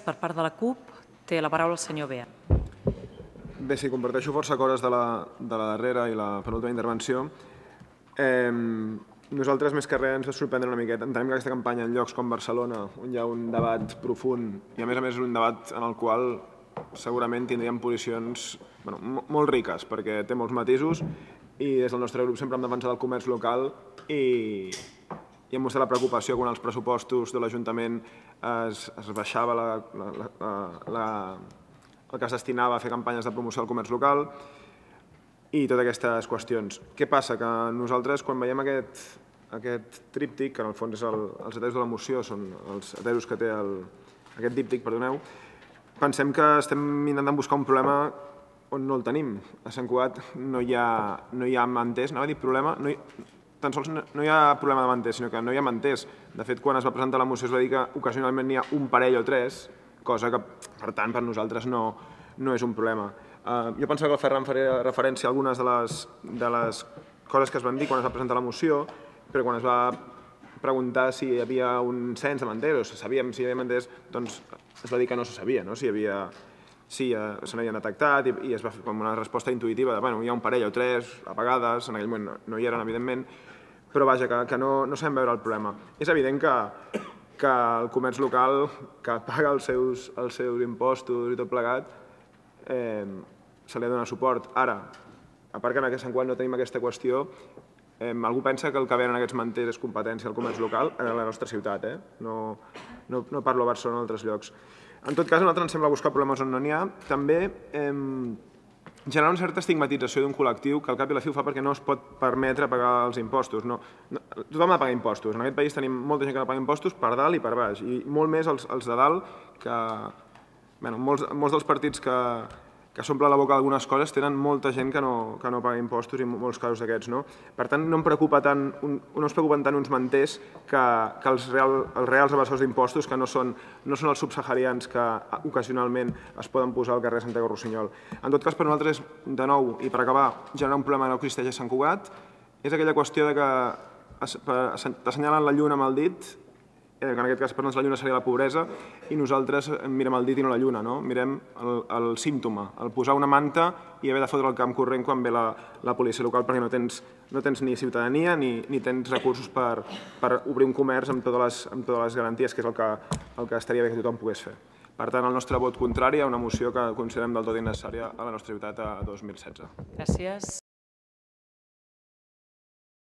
per part de la CUP, té la paraula el senyor Bea. Bé, sí, comparteixo força coses de la darrera i la penúltima intervenció. Nosaltres, més que res, ens va sorprendre una miqueta. Entenem que aquesta campanya en llocs com Barcelona, on hi ha un debat profund i a més és un debat en el qual segurament tindríem posicions molt riques, perquè té molts matisos i des del nostre grup sempre hem defensat el comerç local i hem mostrat la preocupació quan els pressupostos de l'Ajuntament es baixava el que es destinava a fer campanyes de promoció del comerç local i totes aquestes qüestions. Què passa? Que nosaltres, quan veiem aquest tríptic, que en el fons és els heteros de la moció, són els heteros que té aquest díptic, perdoneu, pensem que estem intentant buscar un problema on no el tenim. A Sant Cugat no hi ha manters, anava a dir problema, tan sols no hi ha problema de manters, sinó que no hi ha manters. De fet, quan es va presentar la moció es va dir que ocasionalment n'hi ha un parell o tres, cosa que, per tant, per nosaltres no és un problema. Jo pensava que el Ferran faria referència a algunes de les coses que es van dir quan es va presentar la moció, però quan es va preguntar si hi havia un cens de manters, o sabíem si hi havia manters, doncs es va dir que no se sabia, si se n'havien detectat i es va fer com una resposta intuïtiva de hi ha un parell o tres, a vegades, en aquell moment no hi eren, evidentment, però vaja, que no sabem veure el problema. És evident que el comerç local, que paga els seus impostos i tot plegat, se li ha de donar suport. Ara, a part que en Sant Cugat no tenim aquesta qüestió, algú pensa que el que venen aquests manters és competència del comerç local a la nostra ciutat, no parlo a Barcelona o a altres llocs. En tot cas, a nosaltres ens sembla buscar problemes on no n'hi ha. També generar una certa estigmatització d'un col·lectiu que al cap i a la fi ho fa perquè no es pot permetre pagar els impostos. Tothom ha de pagar impostos. En aquest país tenim molta gent que no paga impostos per dalt i per baix, i molt més els de dalt que... Molts dels partits que s'omple la boca d'algunes coses tenen molta gent que no paga impostos i molts casos d'aquests. Per tant, no es preocupen tant uns manters que els reals evasors d'impostos, que no són els subsaharians que ocasionalment es poden posar al carrer Santiago Rossinyol. En tot cas, per nosaltres, de nou, i per acabar, generar un problema que no existeix a Sant Cugat és aquella qüestió que t'assenyalen la lluna amb el dit, que en aquest cas per nosaltres la lluna seria la pobresa, i nosaltres mirem el dit i no la lluna, mirem el símptoma, el posar una manta i haver de fotre el camp corrent quan ve la policia local perquè no tens ni ciutadania ni tens recursos per obrir un comerç amb totes les garanties, que és el que estaria bé que tothom pogués fer. Per tant, el nostre vot contrari a una moció que considerem del tot innecessària a la nostra ciutat a 2016. Gràcies.